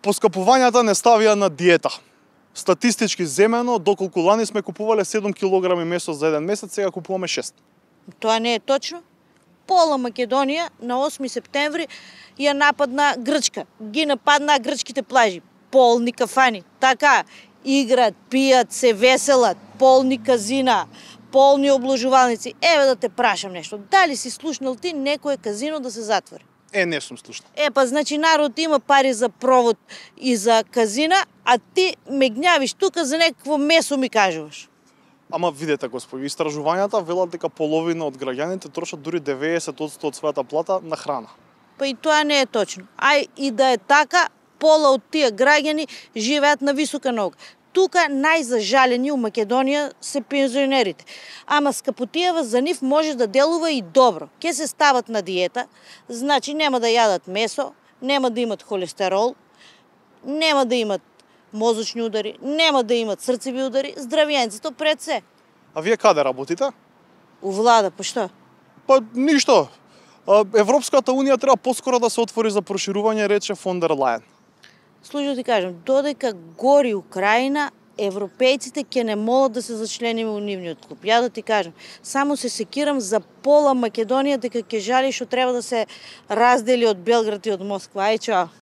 Поскапувањата не ставија на диета. Статистички земено, доколку лани сме купувале 7 килограми месо за еден месец, сега купуваме 6. Тоа не е точно. Пола Македонија на 8 септември ја нападна Грчка. Ги нападна грчките плажи. Полни кафани. Така, играат, пијат, се веселат, полни казина, полни обложувалници. Еве да те прашам нешто. Дали си слушнал ти некое казино да се затвори? Не сум слушнал. Па значи народ има пари за провод и за казина, а ти ме гнјавиш тука за некакво месо ми кажуваш. Ама видете, господи, истражувањата велат дека половина од граѓаните трошат дури 90% од својата плата на храна. Па и тоа не е точно. И да е така, пола од тие граѓани живеат на висока нога. Тука најзажалени у Македонија се пензионерите. Ама Скапотиева за нив може да делува и добро. Ке се стават на диета, значи нема да јадат месо, нема да имат холестерол, нема да имат мозочни удари, нема да имат срцеви удари, здравјенцето пред се. А вие каде работите? У влада, па што? Па ништо. Европската унија треба поскоро да се отвори за проширување, рече фон дер Лајен. Слушай да ти кажам, додека гори Украина, европејците ќе не молат да се зачлениме у нивниот клуб. Ја да ти кажам, само се секирам за пола Македонија дека ќе жали што треба да се раздели од Белград и од Москва. Ај, чао.